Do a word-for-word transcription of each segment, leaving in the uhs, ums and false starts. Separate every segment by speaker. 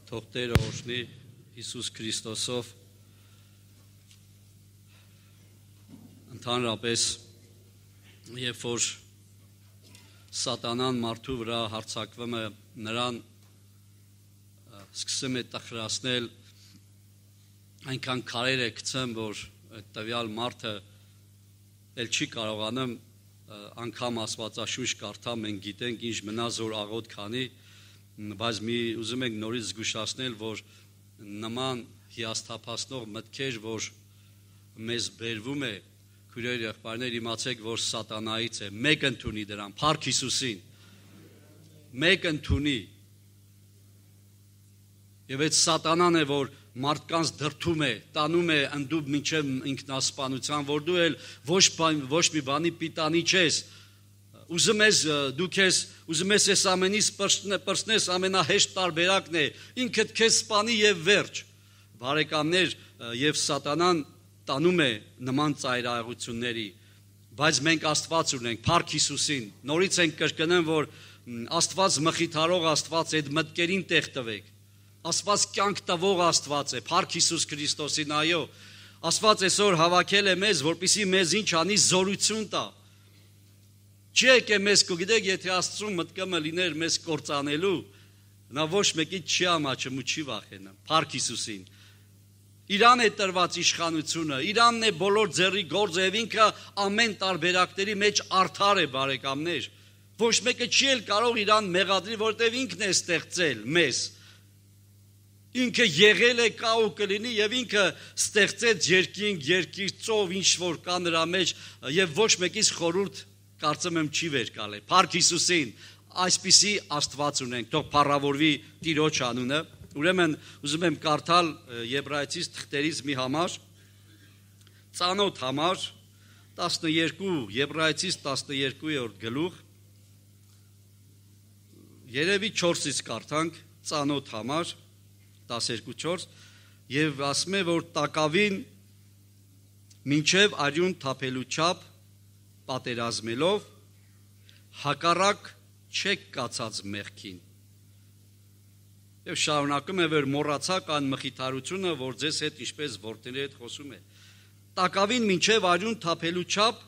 Speaker 1: թող Տերը օրհնի Հիսուս Քրիստոսով ընդհանրապես երբ որ սատանան մարդու վրա հարձակվում է նրան սկսում է տխրացնել այնքան քարեր է գցում որ տվյալ մարդը էլ չի կարողանում անգամ Աստվածաշունչ կարդա մենք գիտենք ինչ մնաց որ աղոտ քանի բայց մի ուզում ենք նորից զգուշացնել, որ նման հիասթափացնող մտքեր, որ մեզ բերվում է, քույրեր եղբայրներ, իմացեք, որ սատանայից է, մեկ ընդունի դրան, Փառք Հիսուսին, մեկ ընդունի, եւ այդ սատանան է, որ մարդկանց դրդում է, տանում է ընդդուք մինչև ինքնասպանության, որ դու էլ ոչ, ոչ մի բանի պիտանի չես, Ուզում ես դու քեզ ուզում ես այս ամենից պրծնես ամենահեշտ տարբերակն է ինքդ քեզ սպանի եւ վերջ բարեկամներ եւ սատանան տանում է նման ծայրահեղությունների բայց մենք Աստված ունենք Փառք Հիսուսին նորից ենք կրկնում որ Աստված մխիթարող Աստված է այդ մտքերին տեղ տվեք Աստված կյանք տվող Աստված է Փառք Հիսուս Քրիստոսին այո Աստված այսօր հավաքել է մեզ որպեսզի մեզ ինչ անի զորություն տա Չի եկե մեզ կգիտեք, եթե Աստծուն մտքումը լիներ մեզ կործանելու, նա ոչ մեկից չի ամաչում ու չի վախենա, Փառք Հիսուսին։ Իրան է տրված իշխանությունը, Իրանն է բոլոր ձեռի գործը եւ ինքը ամեն տարբերակների մեջ արդար է բարեկամներ։ Ոչ մեկը չի էլ կարող Իրան մեղադրի, որտեւ ինքն է ստեղծել մեզ։ Ինքը եղել է կա ու կլինի եւ ինքը ստեղծեց երկինք, երկիր, ծով, ինչ որ կա նրա մեջ եւ ոչ մեկից խորհուրդ Կարծում եմ չի վեր կալ է, Փառք Հիսուսին, այսպիսի Աստված ունենք, թող փառավորվի Տիրոջ անունը, ուրեմն ուզում եմ կարդալ Եբրայեցիս թղթերից մի համար, ծանոթ համար, տասնուերկու, Եբրայեցիս տասնուերկուերորդ գլուխ, երևի չորսից կարդանք, ծանոթ համար, տասներկու չորս, եւ ասում է, որ տակավին մինչև արյուն թափելու չափ պատերազմելով հակառակ չեք կացած մեղքին եւ շարունակում է որ մոռացաք այն մխիթարությունը որ ձեզ հետ ինչպես որդիների հետ խոսում է տակավին մինչև արյուն թափելու չափ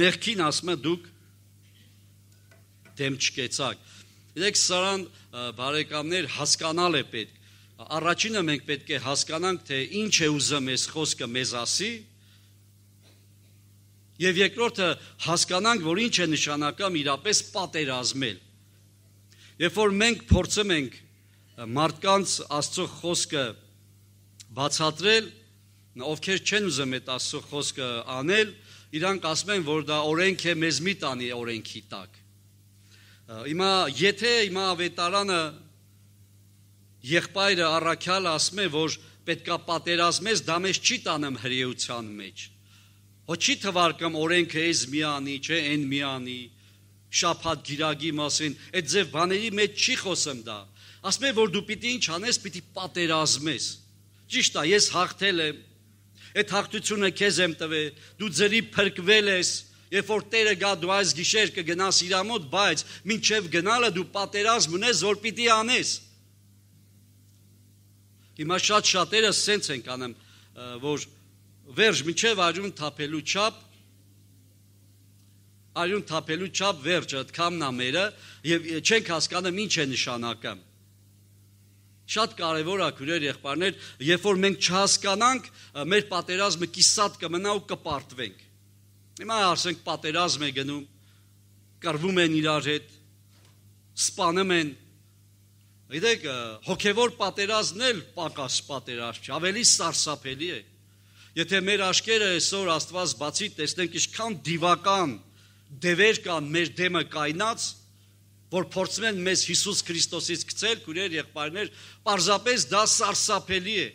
Speaker 1: մեղքին ասում է դուք դեմ չկեցաք դեք սարան բարեկամներ հասկանալ է պետք առաջինը մենք պետք է հասկանանք թե ինչ է ուզում այս խոսքը մեզ ասի Եվ երկրորդը հասկանանք, որ ինչ է նշանակում իրապես պատերազմել։ Երբ որ մենք փորձում ենք մարդկանց Աստծո խոսքը բացատրել, ովքեր չեն ուզում այդ Աստծո խոսքը անել, իրանք ասում են, որ դա օրենք է, մեզ մի տանի օրենքի տակ։ Հիմա եթե հիմա ավետարանը եղբայրը առաքյալը ասում է, որ պետքա պատերազմես, դա մեզ չի տանում հրեության մեջ։ Հո չի թվարկում օրենքը էս միանի, չէ, են միանի, շաբաթ գիրագի մասին, այդ ձև բաների մեջ չի խոսում դա։ Ասում է, որ դու պիտի ինչ անես, պիտի պատերազմես։ Ճիշտ է, ես հաղթել եմ, այդ հաղթությունը քեզ եմ տվել, դու ձերի փրկվել ես, երբ որ Տերը գա դու այս գիշեր կգնաս իր մոտ, բայց մինչև գնալը դու պատերազմ ունես, որ պիտի անես։ Հիմա շատ շատերը սենց են անում, որ Վերջ մինչև արյուն թափելու չափ, արյուն թափելու չափ վերջը, ըդքամն ամերը, և չենք հասկանում ինչ է նշանակում։ Շատ կարևոր է, քույրեր եղբայրներ, երբ որ մենք չհասկանանք, մեր պատերազմը կիսատ կմնա ու կպարտվենք։ Հիմա ասենք պատերազմ է գնում, կռվում են իրար հետ, սպանում են։ Գիտեք, հոգևոր պատերազմն էլ պակաս պատերազմ չէ, ավելի սարսափելի է։ Եթե մեր աշկերը այսօր Աստված բացի տեսնենք ինչքան դիվական դևեր կան մեր դեմը կայնած, որ փորձում են մեզ Հիսուս Քրիստոսից գցել, քույրեր եղբայրներ, պարզապես դա սարսափելի է։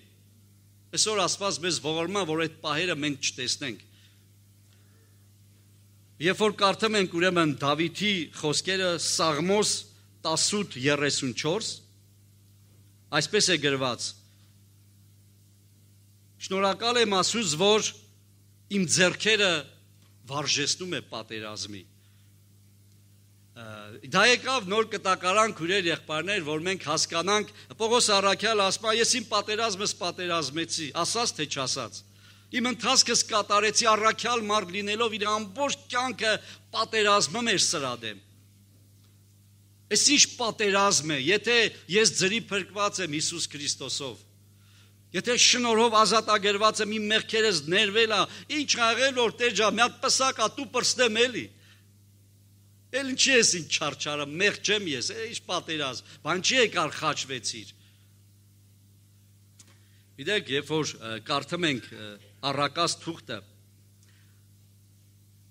Speaker 1: Այսօր Աստված մեզ ողորմա, որ այդ պահերը մենք չտեսնենք։ Երբ որ կարդում ենք ուրեմն Դավիթի խոսքերը Սաղմոս տասութ երեսունչորս, այսպես է գրված. Շնորհակալ եմ Աստծուց, որ իմ ձեռքերը վարժեցնում է պատերազմի։ Դա եկավ նոր կտակարան քուրեր եղբայրներ, որ մենք հասկանանք, Պողոս առաքյալը ասում է, ես իմ պատերազմս պատերազմեցի, ասած թե չասած։ Իմ ընթացքս կատարեցի առաքյալ մարդ լինելով իր ամբողջ կյանքը պատերազմում էր սրա դեմ։ Այս ինչ պատերազմ է, եթե ես ձրի փրկված եմ Հիսուս Քրիստոսով։ Եթե շնորհով ազատագրված եմ, իմ մեղքերս ներվել է, ինչ աղել որ Տեր ջան, մի հատ պսակ ա դու պրստեմ էլի։ Էլ ինչի ես ինչ չարչարը, մեղ չեմ ես, ինչ պատերազմ, բան չի եկար խաչվեցիր։ Գիտեք, երբ որ կարդում ենք Առակաց թուղթը,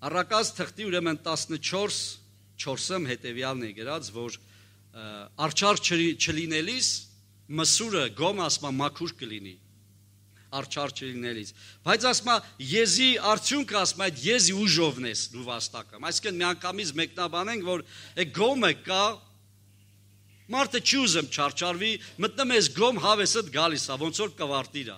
Speaker 1: Առակաց թղթի ուրեմն տասնչորս չորսում հետևյալն է գրած, որ արջար չլինելիս մսուրը գոմ ասма մաքուր կլինի, արջար չլինելիս, բայց ասма եզի արդյունքը ասма այդ եզի ուժովն ես դու վաստակում, այսինքն միանգամից մեկնաբանենք, որ գոմը կա, մարդը չի ուզում չարչարվի, մտնում ես գոմ հավեսդ գալիս է, ոնց որ կվարտիրա,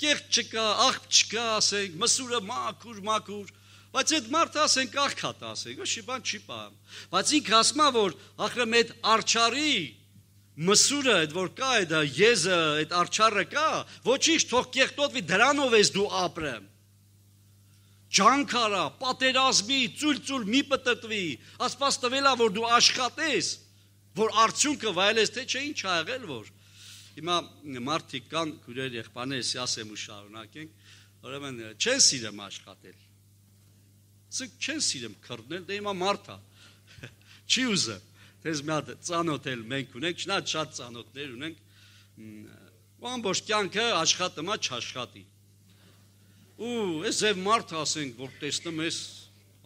Speaker 1: կեղտ չկա, աղբ չկա, ասենք, մսուրը մաքուր, մաքուր, բայց այդ մարդը ասենք աղքատ ասենք, ոչի բան չի պահում, բայց ինքը ասում է, որ ախրեմ այդ արջարի մսուրը, այդ որ կա, այդ եզը, այդ արջարը կա, ոչինչ թող կեղտոտվի, դրանով ես դու ապրեմ, ջանքարա, պատերազմի, ծույլ-ծույլ մի պտտվի, ասպաս տվել է, որ դու աշխատես, որ արդյունքը վայելես, թե չէ ինչ ա եղել, որ հիմա մարդիկ կան, քուրեր եղբայրներ, ասեմ ու շարունակենք, ուրեմն չեն սիրում աշխատել, սրանք չեն սիրում քրտնել, դե հիմա մարդ է, չի ուզում, դες մի հատ ծանոթ էլ մենք ունենք, շնա շատ ծանոթներ ունենք, ու ամբողջ կյանքը աշխատում է չաշխատի, ու այս ձև մարդ ասենք, որ տեսնում ես,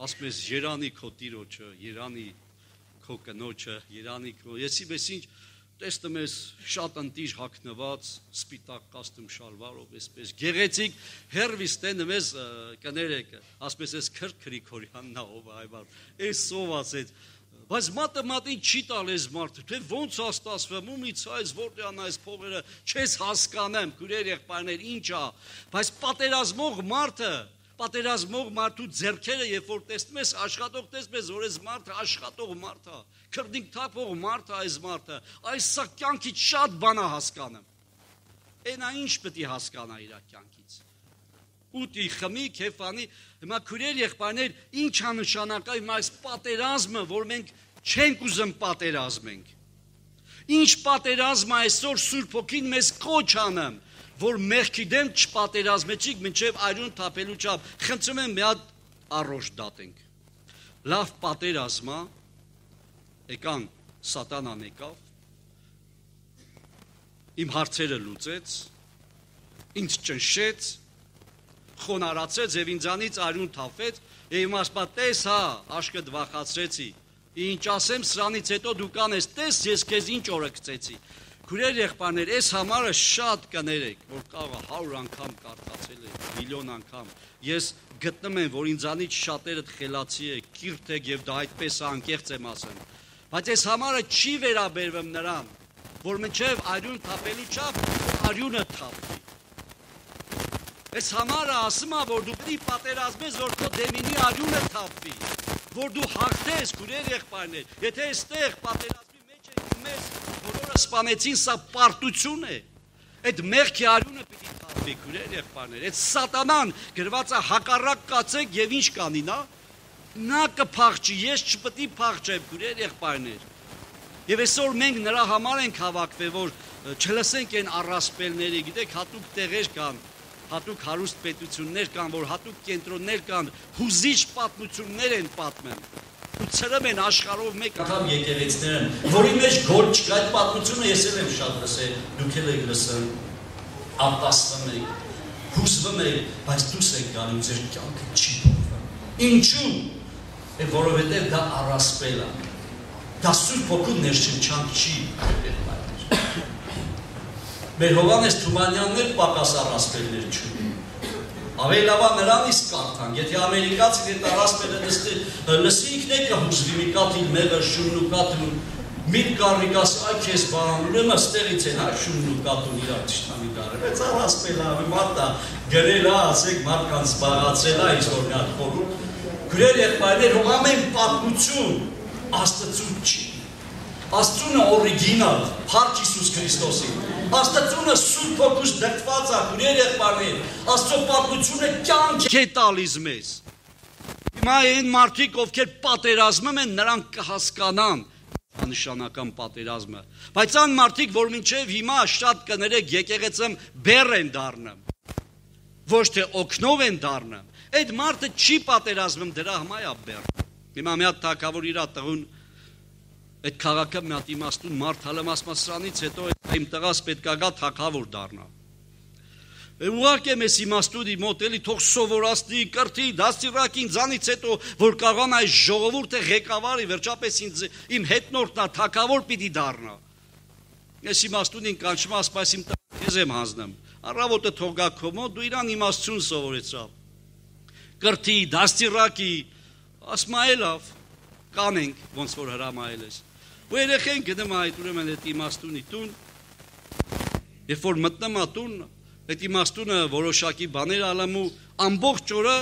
Speaker 1: ասում ես երանի քո տիրոջը, երանի քո կնոջը, երանի քո, եսի բես ինչ, տեսնում ես շատ ընտիր հագնված, սպիտակ կաստում շալվարով, այսպես գեղեցիկ, հերվիս տենում ես կներեք, ասպես ես քրտ Գրիգորյանն ով այվար, այս ով ասեց, բայց մատը մատին չի տալ ես մարդը, թե ոնց է ստացվում, ումից այս որտեղն այս փողերը, չես հասկանեմ, քուրեր եղբայրներ, ինչ է, բայց պատերազմող մարդը, պատերազմող մարդու ձեռքերը, երբ որ տեսնում ես աշխատող, տեսնում ես, որ այս մարդը աշխատող մարդ է, քրտինք թափող մարդ է այս մարդը, այս սա կյանքից շատ բան է հասկանում, այնա ինչ պետք է հասկանա իր կյանքից, ուտի, խմի, քեֆանի, հիմա քուրեր եղբայրներ, ինչ է նշանակա հիմա այս պատերազմը, որ մենք չենք ուզում պատերազմենք, ինչ պատերազմ է այսօր Սուրբ Հոգին մեզ կոչ անում, որ մեղքի դեմ չպատերազմեցիք մինչև այրուն թափելու չափ, խնդրում եմ մի հատ առողջ դատենք, լավ պատերազմա, եկան սատանան եկավ, իմ հարցերը լուծեց, ինձ ճնշեց, խոնարացեց և ինձանից այրուն թափեց, և իմ ասպա տես հա, աշկդ վախացրեցի, ինչ ասեմ սրանից հետո դու կանես, տես ես քեզ ինչ օրը գցեցի, քուրեր եղբայրներ, այս համարը շատ կներեք, որ կաղա հարյուր անգամ կարդացել եք, միլիոն անգամ, ես գտնում եմ, որ ինձանից շատերդ խելացի եք, կիրթ եք և դա այդպես անկեղծ եմ ասեմ, բայց այս համարը չի վերաբերվում նրան, որ մինչև այրուն թափելու չափ, այրունը թափվի, այս համարը ասում է, որ դու պետք է պատերազմես, որ քո դեմինի այրունը թափվի, որ դու հաղթես, քուրեր եղբայրներ, եթե այստեղ պատերազմի մեջ եք ու մեզ բոլորը սպանեցին, սա պարտություն է, այդ մեղքի այրունը պիտի թափվի, քուրեր եղբայրներ, այդ սատանան գրված է հակառակ կացեք և ինչ կանի նա, նա կփախչի, ես չպետք է փախչեմ, քուրեր եղբայրներ, և այսօր մենք նրա համար ենք հավաքվել, որ չլսենք այն առասպելների, գիտեք, հատուկ տեղեր կան, հատուկ հարուստ պետություններ կան, որ հատուկ կենտրոններ կան, հուզիչ պատմություններ են պատմում, ու ցրում են աշխարհով մեկ անգամ եկեղեցիներն, որի մեջ գոլ չկա, այդ պատմությունը ես էլ եմ շատ լսել, դուք էլ եք լսել, ապաստում եք, հուզվում եք, բայց դուս եք գալու, ձեր կյանքը չի փոխվում։ Ինչու՞։ Որովհետև դա առասպել է, դա Սուրբ Հոգու ներշնչանք չի։ Մեր Հովհաննես Թումանյանն էլ պակաս առասպելներ չունի։ Ավելի լավ է նրանից կարդանք, եթե ամերիկացին այդ առասպելը լսի ինքն է կհուզվի, մի կաթիլ մեղր շունն ու կաթիլ միտ կառնիկ ասի, այ քեզ բան, ուրեմն ստեղից են, այ շունն ու կաթուն իրար թշնամի դարել, բայց առասպելը ավելի մարդ է, գրել է, ասեք մարդկանց զբաղացրել է, ինչ որ նա խորհուրդ, քուրեր եղբայրներ, ամեն պատմություն, Աստծուն չի։ Աստծունը օրիգինալ, Փառք Հիսուս Քրիստոսի։ Աստծունը Սուրբ Հոգուց դրդված է, քույր եղբայրներ, Աստծո պատմությունը կյանք է տալիս մեզ։ Հիմա այն մարդիկ, ովքեր պատերազմում են, նրանք կհասկանան նշանական պատերազմը։ Բայց այն մարդիկ, որ մինչև հիմա շատ կներեք եկեղեցում բեռ են դառնում, ոչ թե օգնով են դառնում, այդ մարդը չի պատերազմում, դրա համար է բեռ։ Հիմա մի հատ թագավոր իր տղուն այդ քաղաքը մի հատ իմաստուն մարդ հալեմ ասма սրանից հետո իմ տղաս պետք է գա թագավոր դառնա։ Ուղղակի մեզ իմաստունի մոտ էլի թող սովորացնի, կրթի, դաստիարակին ձանից հետո որ կարողանա այս ժողովուրդը ղեկավարի, վերջապես ինձ իմ հետնորդն է, թագավոր պիտի դառնա։ Ես իմաստունին կանչում ասում այս իմ տղան քեզ եմ հանձնում։ Առավոտը թող գա քո մոտ, դու իրան իմաստություն սովորեցավ։ Կրթի, դաստիարակի, ասում է լավ, կանենք, ոնց որ հրամայել ես։ Ու երեխեն գնում է այդ ուրեմն այդ իմաստունի տուն, երբ որ մտնում է տուն, այդ իմաստունը որոշակի բաներ ալում ու ամբողջ օրը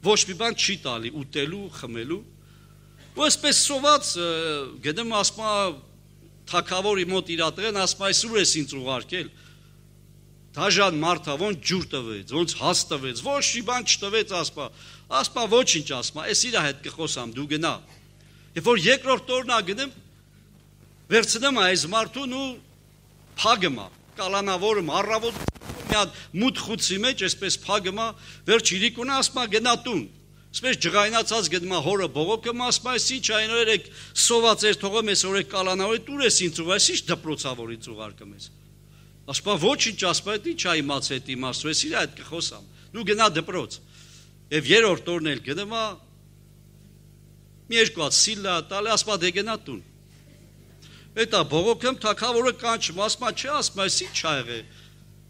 Speaker 1: ոչ մի բան չի տալի, ուտելու, խմելու։ Ու այսպես սոված գնում ասում է թագավորի մոտ իր տղեն, ասում է այսուր ես ինձ ուղարկել։ Դաժան մարդա, ոնց ջուր տվեց, ոնց հաց տվեց, ոչ մի բան չտվեց, ասում է, ասում է ոչինչ, ասում է, ես իր հետ կխոսամ, դու գնա։ Երբ որ երկրորդ օրն է գնում, վերցնում է այս մարդուն ու փագում է, կալանավորում, առավոտ մի հատ մութ խուցի մեջ, այսպես փագում է, վերջ իրիկունը ասում է գնա տուն։ Այսպես ջղայնացած գնում է հորը բողոքում, ասում է ինչ այն օրեք սոված էր թողում ես օրեք կալանավորի, տուր ես ինձ ուղարկես, ինչ դպրոցավորից ուղարկում ես։ Ասում է ոչինչ, ասում է ինչ է իմաց հետ իմաստու, ես իր հետ կխոսամ։ Դու գնա դպրոց։ Եվ երրորդ օրն էլ գնում է մի երկու հատ սիլա տալի, ասում է դե գնա տուն։ Էտա բողոքում թագավորը կանչում, ասում է չէ, ասում է ինչ ա եղել։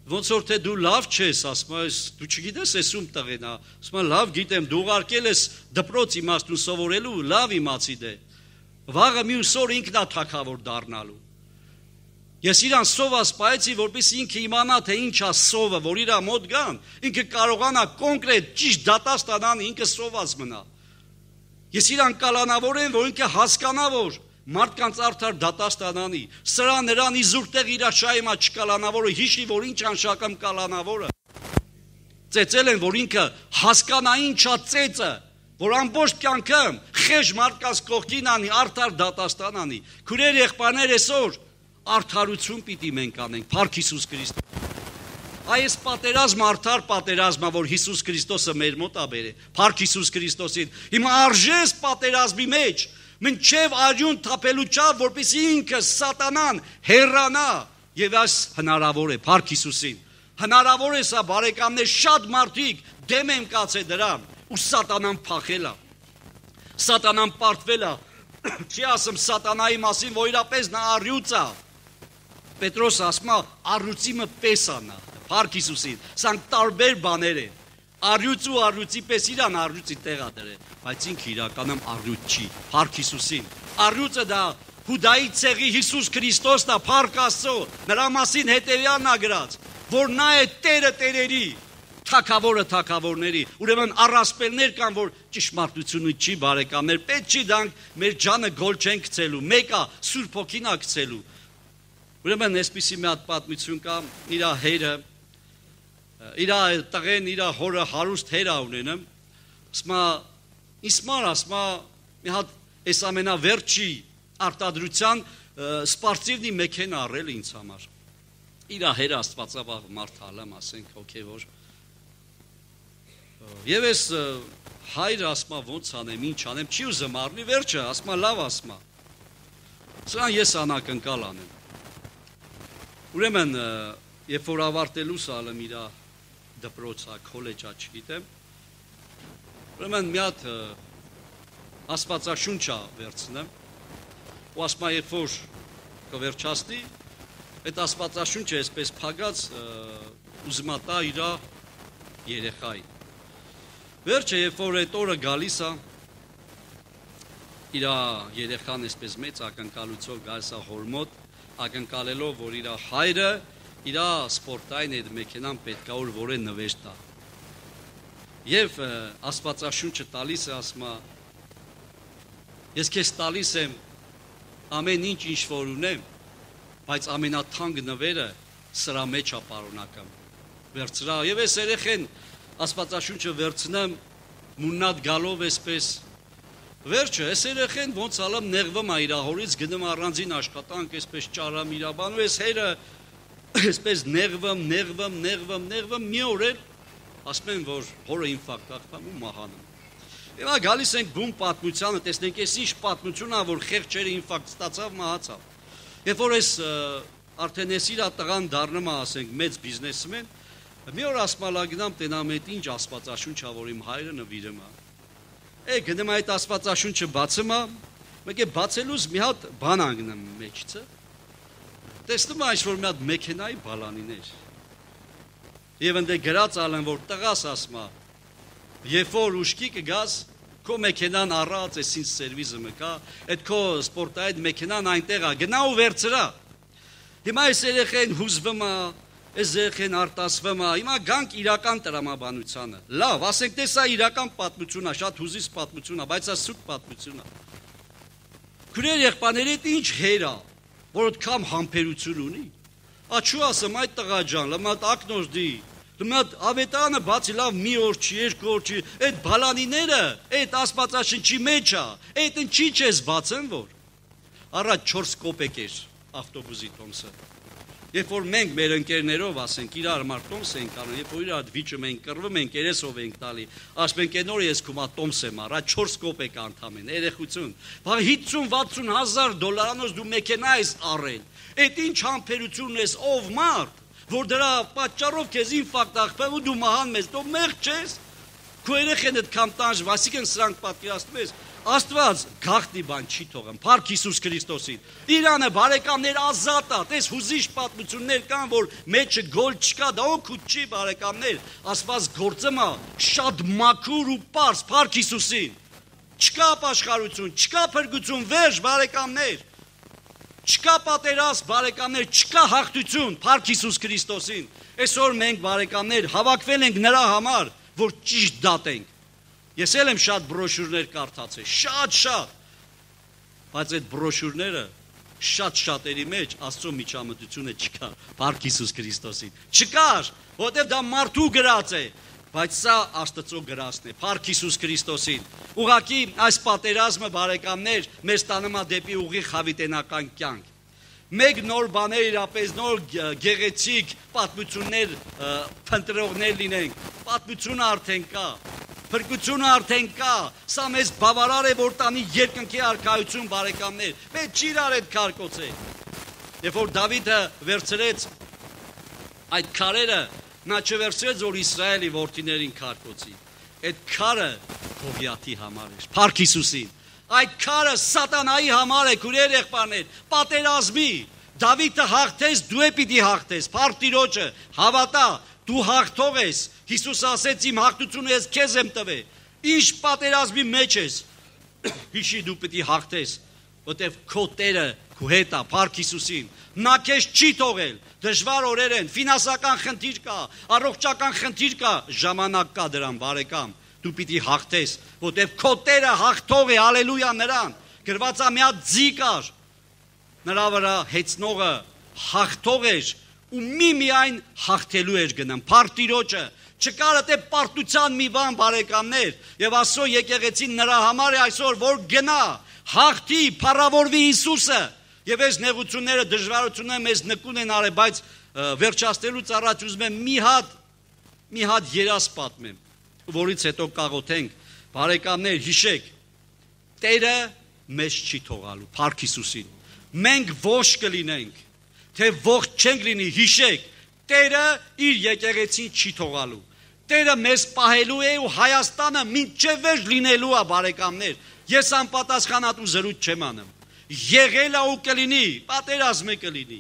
Speaker 1: Ոնց որ թե դու լավ չես, ասում է դու չգիտես ես ում տղեն է, ասում է լավ գիտեմ, դու ուղարկել ես դպրոց իմաստուն սովորելու, լավ իմացի դե։ Վաղը մյուս օր ինքն է թագավոր դառնալու։ Ես իրան սով ասպայեցի, որպեսզի ինքը իմանա, թե ինչ է սովը, որ իր մոտ գան, ինքը կարողանա կոնկրետ ճիշտ դատաստան ինքը սոված մնա։ Ես իրան կալանավորեմ, որ ինքը հասկանա, որ մարդկանց արդար դատաստան անի, սրա նրան իզուրտեղ իր շայմա չկալանավորը, հիշի, որ ինչ անշակամ կալանավորը։ Ծեծել են, որ ինքը հասկանա ինչա ծեծը, որ ամբողջ կյանքում խեժ մարդկանց կողքին անի, արդար դատաստան անի։ Քույրեր եղբայրներ այսօր արդարություն պիտի մենք անենք, Փառք Հիսուս Քրիստոս։ Այս պատերազմը արդար պատերազմը, որ Հիսուս Քրիստոսը մեր մոտ է բերել, Փառք Հիսուս Քրիստոսին։ Հիմա արժես պատերազմի մեջ, մինչև արյուն թափելու չափ, որպեսզի ինքը սատանան հեռանա, եւ այս հնարավոր է, Փառք Հիսուսին։ Հնարավոր է սա, բարեկամներ, շատ մարդիկ դեմ են կացել դրան, ու սատանան փախել է։ Սատանան պարտվել է, չի ասում սատանայի մասին, որ իրապես նա առյուծ է։ Պետրոս ասում է, առյուծիմը պես անա, Փառք Հիսուսին, սրանք տարբեր բաներ են։ Առյուծ ու առյուծի պես իրան առյուծի տեղ է դրել, բայց ինքը իրականում առյուծ չի, Փառք Հիսուսին։ Առյուծը դա Հուդայի ցեղի Հիսուս Քրիստոսն է, Փառք Աստծո, նրա մասին հետևյալն է գրած, որ նա է Տերը տերերի, թագավորը թագավորների։ Ուրեմն առասպելներ կան, որ ճշմարտությունը չի, բարեկամներ, պետք չի դանք մեր ջանը գոլ չեն գցելու, մեկը Սուրբ Հոգին է գցելու։ Ուրեմն այսպիսի մի հատ պատմություն կա, իր հերը, իր տղեն, իր հորը հարուստ հեր ունենում, ասում է, իսմար, ասում է, մի հատ այս ամենավերջի արտադրության սպարտիվնի մեքենա առել ինձ համար։ Իր հերը աստվածավաղ մարդ հալամ, ասենք հոգևոր։ Եվ ես հայրը ասում է ոնց անեմ, ինչ անեմ, չի ուզում առնի, վերջը ասում է լավ ասում է։ Սրան ես անակնկալ անեմ։ Ուրեմն երբ որ ավարտելուս ալեմ իր դպրոցա, քոլեջա, չգիտեմ, ուրեմն մի հատ աստվածաշունչ վերցնեմ, ու ասում է երբ որ կվերջացնի, այդ աստվածաշունչը այսպես փակած ուզում է տա իր երեխայի։ Վերջը, երբ որ այդ օրը գալիս է, իր երեխան այսպես մեծ ակնկալությամբ գալիս է հոր մոտ, ակնկալելով, որ իր հայրը իր սպորտային այդ մեքենան պետք է որ է նվեր տա։ Եվ աստվածաշունչը տալիս է, ասում է, Ես քեզ տալիս եմ ամեն ինչ ինչ որ ունեմ, բայց ամենաթանկ նվերը սրա մեջ է պարունակում։ Վերցրա եւ այս երեխեն Աստվածաշունչը վերցնեմ մուննատ գալով այսպես վերջը այս երեխեն ոնց ալամ նեղվում է իր հորից գնում առանձին աշխատանք այսպես ճարամ իր բանը այս հերը այսպես նեղվում նեղվում նեղվում նեղվում մի օր էլ ասում են որ հորը ինֆարկտ ախտամ ու մահանում Եվ գալիս ենք բուն պատմությանը, տեսնենք այս ինչ պատմություն է, որ խեղճերը ինֆարկտ ստացավ, մահացավ։ Երբ որ այս արդեն էս իր տղան դառնում է, ասենք, մեծ բիզնեսմեն, մի օր ասմալագնամ տենամ այդ ինչ աստվածաշունչ է, որ իմ հայրը նվիրում է։ Է գնում այդ աստվածաշունչը բացում է, մեկ է բացելուց մի հատ բան անգնում մեջը։ Տեսնում է ինչ որ մի հատ մեքենայի բալանիներ։ Եվ ընդ գրած ալեն որ տղաս ասма Երբ որ ուշքի կգաս, քո մեքենան առած է սինց սերվիզը մկա, այդ քո սպորտային մեքենան այնտեղ է, գնա ու վերցրա։ Հիմա այս երեխեն հուզվում է, այս երեխեն արտասվում է, հիմա գանք իրական տրամաբանությանը։ Լավ, ասենք տես սա իրական պատմություն է, շատ հուզից պատմություն է, բայց սա սուտ պատմություն է։ Քուրեր եղբայրների հետ ինչ հեր է, որ այդքան համբերություն ունի։ Աչու ասեմ այդ տղա ջան, լմատ ակնորդի Լմատ ավետանը բացի լավ մի օր չի, երկու օր չի, այդ բալանիները, այդ աստվածաշնչի մեջ է, այդ ինչի չես բացեն որ։ Առաջ չորս կոպեկ էր ավտոբուսի տոմսը։ Երբ որ մենք մեր ընկերներով ասենք իրար համար տոմս ենք անում, երբ որ իրար վիճում ենք, կռվում ենք, երեսով ենք տալի, ասում ենք այն օրը ես քո մա տոմս եմ առա, չորս կոպեկ անդամեն, երեխություն։ Բա հինգ վաթսուն հազար դոլարանոց դու մեքենա ես առել։ Այդ ինչ համբերություն ես ով մարդ որ դրա պատճառով քեզ ինֆարկտ ախպեմ ու դու մահան մեզ, դու մեղք չես, քո երեխեն այդքան տանջվում, այսինքն սրանք պատկերացնում ես, Աստված գաղտնի բան չի թողում, Փառք Հիսուս Քրիստոսին, Իրանը բարեկամներ ազատ է, տես հուզիչ պատմություններ կան, որ մեջը գոլ չկա, դա օգուտ չի բարեկամներ, Աստված գործում է շատ մաքուր ու պարզ, Փառք Հիսուսին, չկա ապաշխարություն, չկա փրկություն, վերջ բարեկամներ Չկա պատերազմ, բարեկամներ, չկա հաղթություն, Փառք Հիսուս Քրիստոսին։ Այսօր մենք բարեկամներ հավաքվել ենք նրա համար, որ ճիշտ դատենք։ Ես էլ եմ շատ բրոշյուրներ կարդացել, շատ-շատ։ Բայց այդ բրոշյուրները շատ շատերի մեջ Աստծո միջամտությունը չկա, Փառք Հիսուս Քրիստոսին։ Չկար, որովհետև դա մարդու գրած է, բայց սա Աստծո գրածն է, Փառք Հիսուս Քրիստոսին։ Ուղղակի այս պատերազմը բարեկամներ մեզ տանում է դեպի ուղիղ հավիտենական կյանք։ Մեկ նոր բաներ իրապես նոր գեղեցիկ պատմություններ փնտրողներ լինենք։ Պատմությունը արդեն կա, փրկությունը արդեն կա։ Սա մեզ բավարար է որ տանի երկնքի արքայություն բարեկամներ։ Մենք չի իրար այդ քարկոցը։ Երբ որ Դավիթը վերցրեց այդ քարերը Նա չվերցրեց որ Իսրայելի որդիներին քարկոցի։ Այդ քարը Գողիաթի համար էր, Փառք Հիսուսին։ Այդ քարը սատանայի համար է, քուրեր եղբայրներ, պատերազմի։ Դավիթը հաղթեց, դու է պիտի հաղթես, Փառք Տիրոջը, հավատա, դու հաղթող ես։ Հիսուս ասեց իմ հաղթությունը ես քեզ եմ տվել։ Ինչ պատերազմի մեջ ես։ Հիշի դու պիտի հաղթես, որտեվ քո Տերը քո հետ է, Փառք Հիսուսին։ Նա քեզ չի թողել, դժվար օրեր են, ֆինանսական խնդիր կա, առողջական խնդիր կա, ժամանակ կա դրան բարեկամ, դու պիտի հաղթես, որտև քո Տերը հաղթող է, հալելույա նրան, գրված է մի հատ ձի կար, նրա վրա հեծնողը հաղթող էր ու միմիայն հաղթելու էր գնում, Փառք Տիրոջը, չկար դե պարտության մի բան բարեկամներ, եւ Աստծո եկեղեցին նրա համար է այսօր որ գնա, հաղթի, փառավորվի Հիսուսը։ Եվ այս նեղությունները, դժվարությունները մեզ նկուն են արել, բայց վերջացնելուց առաջ ուզում եմ մի հատ, մի հատ երազ պատմեմ, որից հետո կաղոթենք, բարեկամներ, հիշեք, Տերը մեզ չի թողալու, Փառք Հիսուսին, մենք ողջ կլինենք, թե ողջ չենք լինի, հիշեք, Տերը իր եկեղեցին չի թողալու, Տերը մեզ պահելու է ու Հայաստանը մինչև վերջ լինելու է բարեկամներ, ես անպատասխանատու զրույց չեմ անում, եղել է ու կլինի, պատերազմ է կլինի,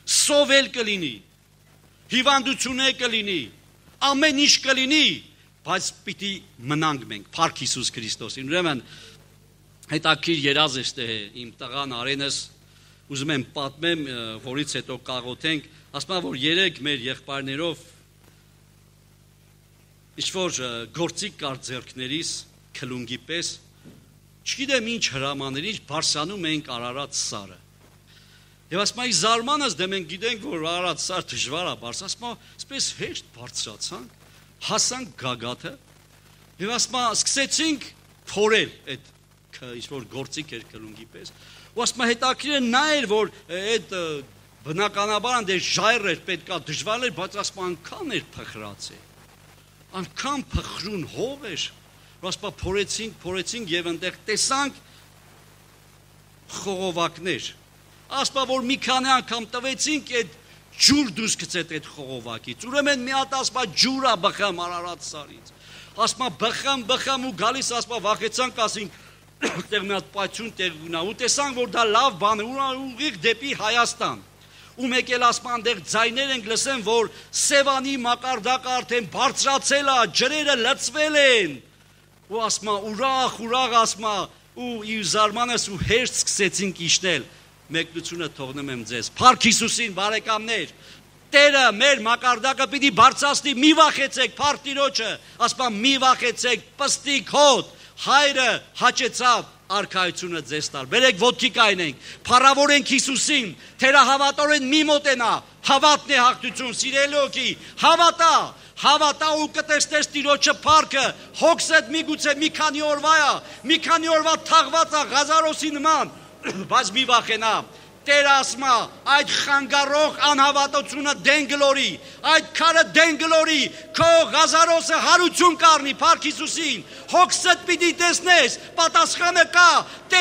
Speaker 1: սովել կլինի, հիվանդություն է կլինի, ամեն ինչ կլինի, բայց պիտի մնանք մենք, Փառք Հիսուս Քրիստոսին։ Ուրեմն հետաքրքիր երազ է իմ տղան Արենս, ուզում եմ պատմեմ, որից հետո կաղոթենք, ասում եմ որ երեք մեր եղբայրներով ինչ որ գործիք կար ձեռքներիս, քլունգի պես, չգիտեմ ինչ հրամաններ, ինչ բարձանում ենք Արարատ սարը։ Եվ ասма ի զարմանս դե մենք գիտենք, որ Արարատ սար դժվար է բարձ, ասма այսպես հեշտ բարձրացանք, հասանք գագաթը, եւ ասма սկսեցինք փորել այդ ինչ որ գործիկ էր կլունգի պես, ու ասма հետաքրքիր նա էր, որ այդ բնականաբար անդեր ժայռ էր, պետքա դժվար էր, բայց ասма անգամ էր փխրացել, անգամ փխրուն հող էր, ու ասма փորեցինք, փորեցինք եւ այնտեղ տեսանք խողովակներ, ասма որ մի քանի անգամ տվեցինք այդ ջուր դուրս գցեց այդ խողովակից, ուրեմն մի հատ ասма ջուր է բխամ Արարատ սարից, ասма բխամ, բխամ ու գալիս ասма վախեցանք, ասինք տեղ մի հատ պայթյուն տեղ ունա, ու տեսանք որ դա լավ բան է, ուղիղ դեպի Հայաստան, ու մեկ էլ ասма այնտեղ ձայներ ենք լսեն, որ Սևանի մակարդակը արդեն բարձրացել է, ջրերը լցվել են, ու ասма ուրախ, ուրախ ասма, ու ի զարմանս ու հեշտ սկսեցինք իջնել, մեկնությունը թողնում եմ ձեզ, Փառք Հիսուսին բարեկամներ, Տերը մեր մակարդակը պիտի բարձրացնի, մի վախեցեք, Փառք Տիրոջը, ասма մի վախեցեք, պստիկ հոտ, Հայրը հաճեցավ արքայությունը ձեզ տալ, բերեք ոտքի կայնենք, փառավորենք Հիսուսին, թերահավատորեն մի մոտենա, հավատն է հաղթություն, սիրելի օքի, հավատա, հավատա ու կտեսնես Տիրոջը փառքը, հոգսդ միգուցե մի քանի օրվա է, մի քանի օրվա թաղված է Ղազարոսի նման, բայց մի վախենա, Տեր ասма, այդ խանգարող անհավատությունը դեն գլորի, այդ քարը դեն գլորի, քո Ղազարոսը հարություն կառնի, Փառք Հիսուսին, հոգսդ պիտի տեսնես, պատասխանը կա, Տեր